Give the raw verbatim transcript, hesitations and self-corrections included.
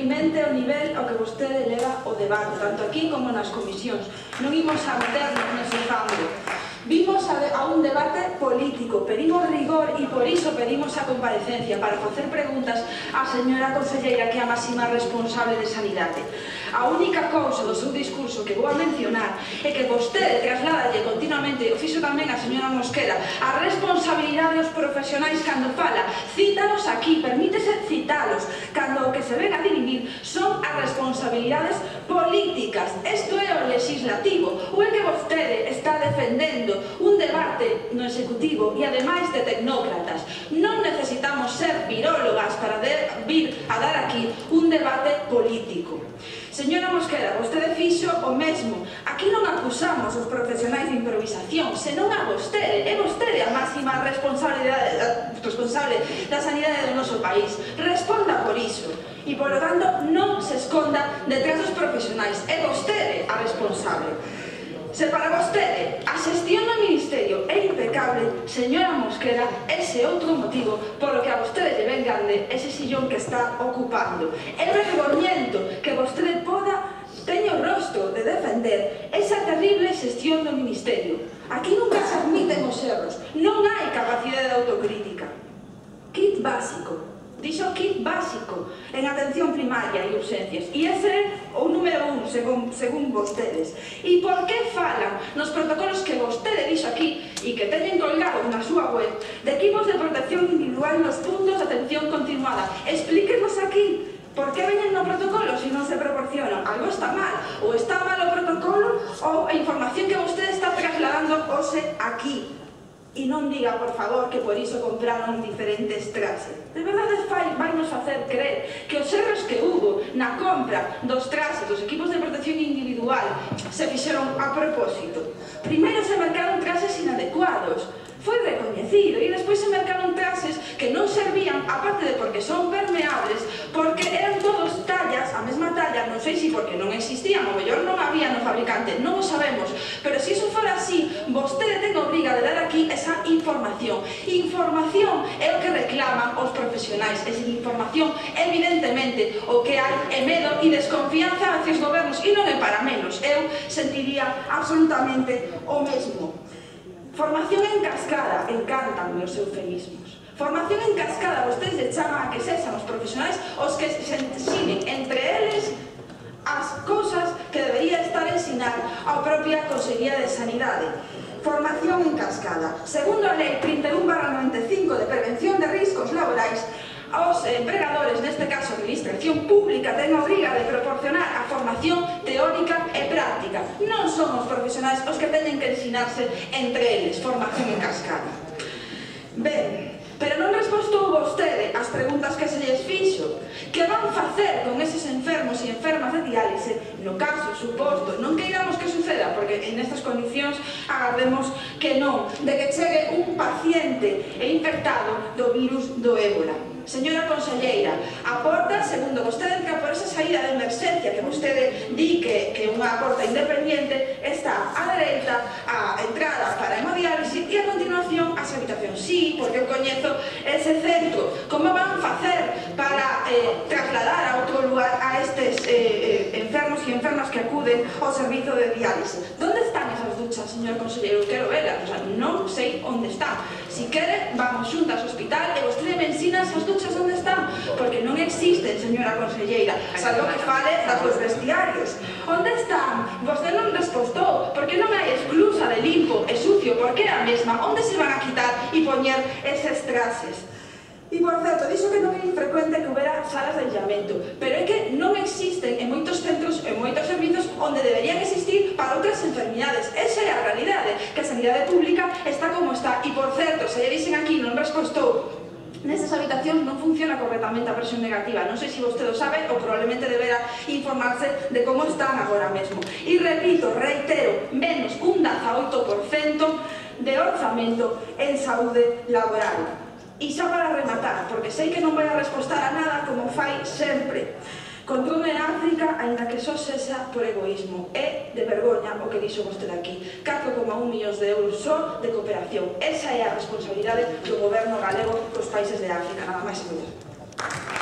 deprimente o nivel ao que vostede leva o debate, tanto aquí como nas comisións. Non imos a meternos nese fango. Vimos a, a un debate político, pedimos rigor e por iso pedimos a comparecencia para facer preguntas á señora conselleira que é a máxima responsable de Sanidade. A única cousa do seu discurso que vou a mencionar é que vostede trasladalle continuamente, o fixo tamén a señora Mosquera, a responsabilidade dos profesionais cando fala. Cítalos aquí, permítese citalos, cando o que se ven a dirimir son as responsabilidades políticas. Isto é o legislativo, ou é que vostede está defendendo un debate no executivo e ademais de tecnócratas. Non necesitamos ser virólogas para vir a dar aquí un debate político. Señora Mosquera, vostede fixo o mesmo. Aquí non acusamos os profesionais de improvisación, senón a vostede. É vostede a máxima responsable da sanidade do noso país. Responda por iso. E, polo tanto, non se esconda detrás dos profesionais. É vostede a responsable. Se para vostede a xestión do Ministerio é impecable, señora Mosquera, ese é outro motivo polo que a vostede lle ven grande ese sillón que está ocupando. É vergoñento que vostede poda teña o rostro de defender esa terrible xestión do Ministerio. Aquí nunca se admiten os erros, non hai capacidade de autocrítica. Kit básico. Dixo kit básico en atención primaria e urxencias. E ese é o número un, según, según vostedes. E por que falan nos protocolos que vostede dixo aquí e que teñen colgados na súa web de equipos de protección individual nos puntos de atención continuada? Explíquenos aquí. Por que veñen no protocolo se non se proporcionan? Algo está mal. Ou está mal o protocolo ou a información que vostede está trasladando hoxe aquí. E non diga, por favor, que por iso compraron diferentes traxes. De verdade vai nos facer creer que os erros que hubo na compra dos traxes, dos equipos de protección individual, se fixeron a propósito. Primeiro se mercaron traxes inadecuados, foi recoñecido, e despois se mercaron traxes que non servían, aparte de porque son permeables, porque eran todos tallas, a mesma talla, non sei se porque non existían, ou mellor non había no fabricante, non o sabemos, pero se iso fora así, vostede ten obriga de dar aquí esa información. Información é o que reclaman os profesionais, e sin información, evidentemente, o que hai é medo e desconfianza hacia os gobernos, e non é para menos, eu sentiría absolutamente o mesmo. Formación en cascada, encantan os eufemismos. Formación en cascada, vostedes lle chaman a que sexan os profesionais os que se ensinen entre eles as cousas que debería estar ensinar a propia Consellería de Sanidade. Formación en cascada. Segundo a Lei trinta e un barra noventa e cinco de prevención de riscos laborais, os empregadores, neste caso a Administración Pública, ten a obriga de proporcionar a formación teórica e práctica. Non son os profesionais os que teñen que ensinarse entre eles formación en cascada. Ben, pero non respostou vostede as preguntas que se lles fixo. Que van facer con eses enfermos e enfermas de diálise no caso suposto, non queiramos que suceda, porque en estas condicións agardemos que non, de que chegue un paciente infectado do virus do ébola. Señora conselleira, a porta, segundo vostede, que por esa saída de emerxencia que vostede di que é unha porta independiente, está á dereita a entrada para hemodiálise e a continuación as habitacións. Sí, porque eu coñezo ese centro. Como van facer para eh, trasladar a outro lugar a estes eh, eh, enfermos e enfermas que acuden ao servizo de diálise? Donde están esas duchas, señor conselleiro? Quero velas, o sea, non sei onde están. Si quere, vamos xuntas ao hospital e vostede me ensina esas duchas onde están, porque non existen, señora conselleira, salvo que fale dos vestiarios. Onde están? Vostede non respostou, porque non hai esclusa de limpo e sucio, porque é a mesma. Onde se van a quitar e poñer eses traxes? E, por certo, dixo que non é infrecuente que houbera salas de aillamento, pero é que non existen en moitos centros, en moitos servizos, onde deberían existir para outras enfermidades. Esa é a realidade, que a sanidade pública está como está. E, por certo, se lle dixen aquí non respostou, nestas habitacións non funciona correctamente a presión negativa. Non sei se vostede o sabe ou probablemente deberá informarse de como están agora mesmo. E repito, reitero, menos un dezaoito por cento de orzamento en saúde laboral. E xa para rematar, porque sei que non vai a respostar a nada como fai sempre. Controle en África, aínda que só sexa por egoísmo. É de vergoña o que dixo vostede aquí. catro coma un millóns de euros só de cooperación. Esa é a responsabilidade do goberno galego dos países de África. Nada máis e moitas.